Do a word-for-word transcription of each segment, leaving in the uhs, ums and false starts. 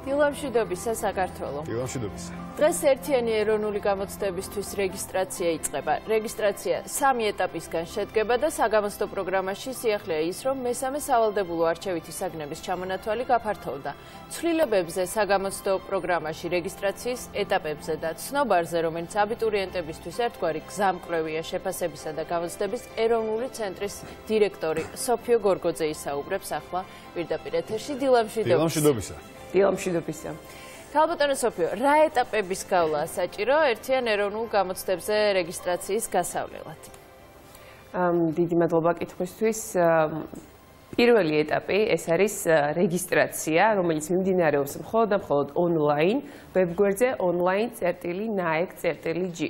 დილამშვიდობისა საქართველო. დილამშვიდობისა. დღეს ერთიანი ეროვნული გამოცდებისთვის რეგისტრაცია იწყება. რეგისტრაცია სამი ეტაპისგან შედგება და საგამოცდო პროგრამაში სიახლეა ის, რომ მესამე სავალდებულო არჩევითი საგნების ჩამონათვალი გაფართოვდა. ცვლილებებზე საგამოცდო პროგრამაში რეგისტრაციის ეტაპებზე და ცნობარზე, რომელიც აბიტურიენტებისთვის ერთგვარი გზამკვლევია შეფასებისა და გამოცდების ეროვნული ცენტრის დირექტორი სოფიო გორგოძე ისაუბრებს ახლა პირდაპირ ეთერში. დილამშვიდობისა. დილამშვიდობისა. დილამშვიდობისა. ქალბატონო სოფიო, რა ეტაპების გავლა საჭირო ერთიან ეროვნულ გამოცდებზე რეგისტრაციის გასავლელად? დიდი მადლობა კითხვისთვის. პირველი ეტაპი ეს არის რეგისტრაცია, რომელიც მიმდინარეობს მხოლოდ და მხოლოდ ონლაინ, ვებგვერდზე online.naec.g.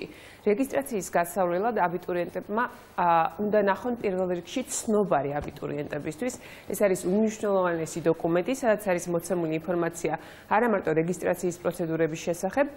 რეგისტრაციის გასავლელად აბიტურიენტებმა უნდა ნახონ პირველ რიგში ცნობარი აბიტურიენტებისთვის. ეს არის უმნიშვნელოვანესი დოკუმენტი, სადაც არის მოცემული ინფორმაცია არა მარტო რეგისტრაციის პროცედურების შესახებ,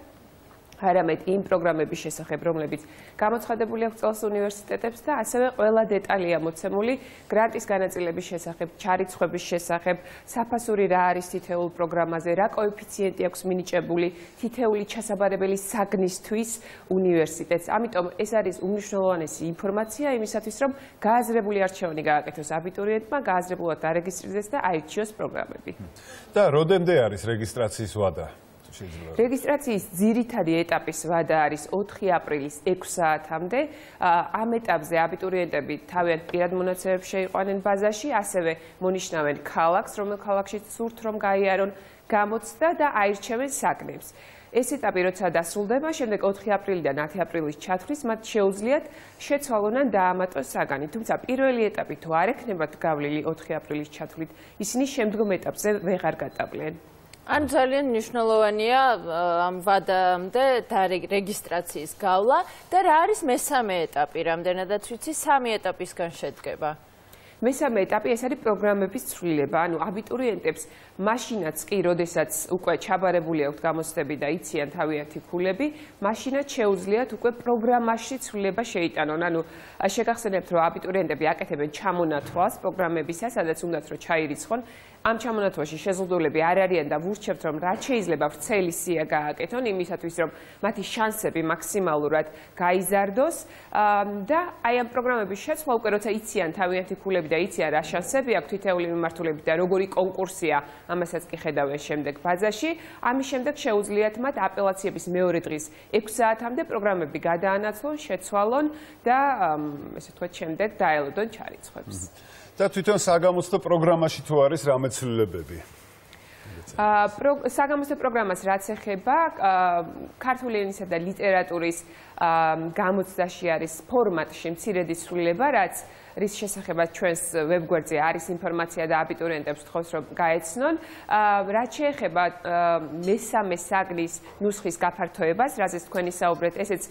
არამედ იმ პროგრამების შესახებ, რომლებიც გამოცხადებული აქვს წელს უნივერსიტეტებს და ასევე ყველა დეტალია მოცემული გრანტის განაწილების შესახებ, ჩარიცხვების შესახებ, საფასური რა არის თითოეულ პროგრამაზე, რა კოეფიციენტი აქვს მინიჭებული თითოეული ჩასაბარებელი საგნისთვის უნივერსიტეტს. ამიტომ ეს არის უმნიშვნელოვანესი ინფორმაცია იმისათვის, რომ გააზრებული არჩევანი გააკეთოს აბიტურიენტმა, გააზრებულად დარეგისტრირდეს და აირჩიოს პროგრამები. და როდემდე არის რეგისტრაციის ვადა? რეგისტრაციის ძირითადი ეტაპის ვადა არის ოთხი აპრილის ექვს საათამდე. ამ ეტაპზე აბიტურიენტები თავიანთ პირად მონაცემებს შეიყვანენ ბაზაში, ასევე მონიშნავენ ქალაქს, რომელ ქალაქშიც სურთ რომ გაიარონ გამოცდა და აირჩევენ საგნებს. ეს ეტაპი როცა დასრულდება, შემდეგ ოთხი აპრილიდან ათი აპრილის ჩათვლის მათ შეუძლიათ შეცვალონ ან დაამატოს საგანი. თუმცა პირველი ეტაპი თუ არ ექნებათ გავლილი ოთხი აპრილის ჩათვლით, ისინი შემდგომ ეტაპზე ვეღარ გატაბლიან. ან ძალიან მნიშვნელოვანია ამ ვადამდე რეგისტრაციის გავლა და რა არის მესამე ეტაპი, რამდენადაც ვიცი, სამი ეტაპისგან შედგება. მესამე ეტაპი ეს არის პროგრამების ცვლილება, ანუ აბიტურიენტებს მაშინაც კი, როდესაც უკვე ჩაბარებული აქვთ გამოცდები და იციან თავიანთი ქულები, მაშინაც შეუძლიათ უკვე პროგრამაში ცვლილება შეიტანონ. ანუ შეგახსენებთ, რომ აბიტურიენტები აკეთებენ ჩამონათვალს პროგრამებისა, სადაც უნდათ რომ ჩაირიცხონ. ამ ჩამონათვალში შეზღუდულები არ არიან და ვურჩევთ, რომ რაც შეიძლება ვრცელი სია გააკეთონ იმისათვის, რომ მათი შანსები მაქსიმალურად გაიზარდოს და აი ამ პროგრამების შეცვლა უკვე როცა იციან თავიანთი ქულები და იციან რა შანსები აქვს თითოეული მიმართულებით და როგორი კონკურსია, ამასაც კი ხედავენ შემდეგ ბაზაში. ამის შემდეგ შეუძლიათ მათ აპელაციების მეორე დღის ექვს საათამდე პროგრამები გადაანაცვლონ, შეცვალონ და ესე ვთქვათ, შემდეგ დაელოდონ ჩარიცხვებს. და თვითონ საგამოცდო პროგრამაში თუ არის რამე ცვლილებები? საგამოცდო პროგრამას რაც ეხება, ქართული ენისა და ლიტერატურის გამოცდაში არის ფორმატში მცირედი ცვლილება, რაც რის შესახებაც ჩვენს ვებგვერდზე არის ინფორმაცია და აბიტურიენტებს ვთხოვს, რომ გაეცნონ. რაც შეეხება მესამე საგნის ნუსხის გაფართოებას, რაზეც თქვენ ისაუბრეთ, ესეც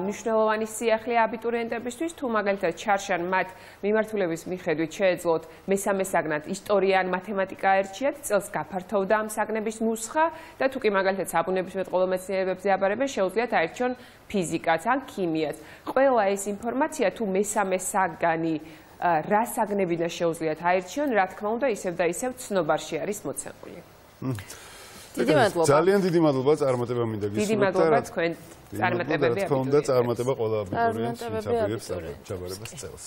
მნიშვნელოვანი სიახლეა აბიტურიენტებისთვის, თუ მაგალითად ჩარშან მათ მიმართულების მიხედვით შეეძლოთ მესამე საგნად ისტორია ან მათემატიკა აერჩიათ, წელს გაფართოვდა ამ საგნების ნუსხა და თუ კი მაგალითად საბუნებისმეტყველო მეცნიერებებზე აბარებენ, შეუძლიათ აერჩიონ ფიზიკას ან ქიმიას. ყველა ეს ინფორმაცია თუ მესამე საგანი რა საგნებიდან შეუძლიათ აირჩიონ, რა თქმა უნდა, ისევ და ისევ ცნობარში არის მოცემული. დიდი მადლობა. ძალიან დიდი მადლობა წარმატება მინდა გისურვოთ. დიდი მადლობა თქვენ წარმატებები აბიტურიენტებს. თქვენ და წარმატება ყველა აბიტურიენტს, ვინც აბიტურიენტს ჩაბარებას წელს.